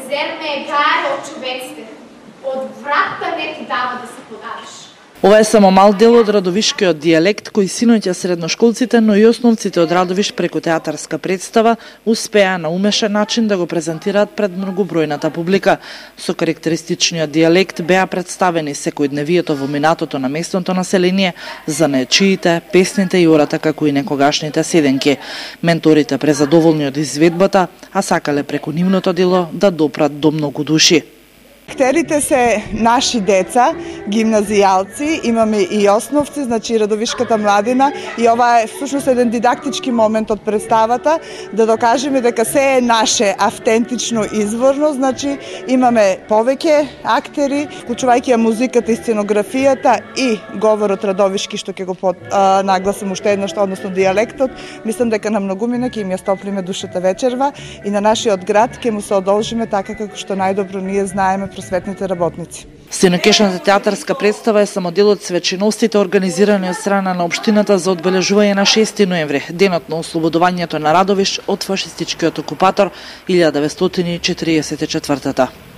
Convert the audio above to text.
зерме гаре од човеците, од вратта не ти дава да се подавиш. Ова е само мал дел од радовишкиот дијалект кој синоќа средношколците, но и основците од Радовиш преку театарска представа успеа на умешен начин да го презентираат пред многобројната публика. Со карактеристичниот дијалект беа представени секојдневието во минатото на местното население, занаечиите, песните и ората како и некогашните седенки. Менторите презадоволни од изведбата, а сакале преку нивното дело да допрат до многу души. Актерите се наши деца, гимназијалци, имаме и основци, значи Радовишката младина, и ова е всушност еден дидактички момент од представата, да докажеме дека се е наше, автентично, изворно, значи имаме повеќе актери, вклучувајќи ја музиката и сценографијата и говорот радовишки, што ќе го нагласам уште еднаш, односно дијалектот. Мислам дека на многумина ќе им ја стоплиме душата вечерва и на нашиот град ќе му се одолжиме така како што најдобро ние знаеме просветните работници. Сенокешната театарска представа е само дел од свеченостите организирани од страна на општината за одбележување на 6 ноември, денот на ослободувањето на Радовиш од фашистичкиот окупатор 1944.